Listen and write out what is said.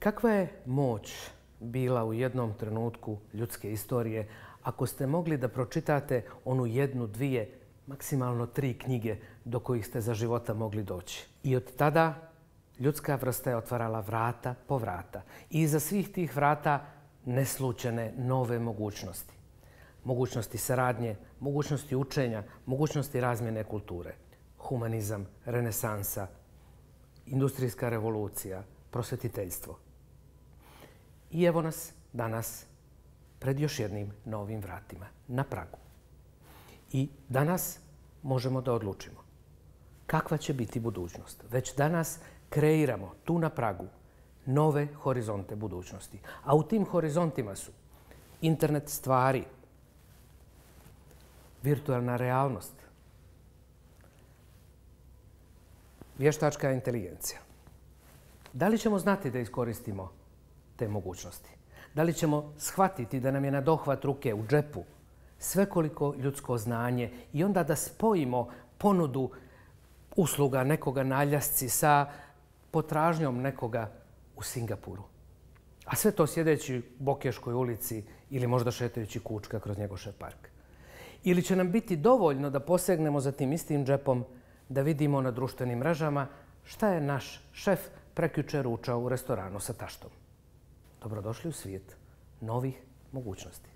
Kakva je moć bila u jednom trenutku ljudske istorije ako ste mogli da pročitate onu jednu, dvije, maksimalno 3 knjige do kojih ste za života mogli doći? I od tada ljudska vrsta je otvarala vrata po vrata. I iza svih tih vrata neslučene nove mogućnosti. Mogućnosti saradnje, mogućnosti učenja, mogućnosti razmjene kulture. Humanizam, renesansa, industrijska revolucija, prosvetiteljstvo. I evo nas danas pred još jednim novim vratima, na pragu. I danas možemo da odlučimo kakva će biti budućnost. Već danas kreiramo tu na pragu nove horizonte budućnosti. A u tim horizontima su internet stvari, virtualna realnost, vještačka inteligencija. Da li ćemo znati da iskoristimo te mogućnosti? Da li ćemo shvatiti da nam je na dohvat ruke u džepu svekoliko ljudsko znanje i onda da spojimo ponudu usluga nekoga na Aljasci sa potražnjom nekoga u Singapuru? A sve to sjedeći u Bokeškoj ulici ili možda šetajući kučka kroz Njegošev park. Ili će nam biti dovoljno da posegnemo za tim istim džepom, da vidimo na društvenim mrežama šta je naš šef prekjuče ručao u restoranu sa taštom. Dobrodošli u svijet novih mogućnosti.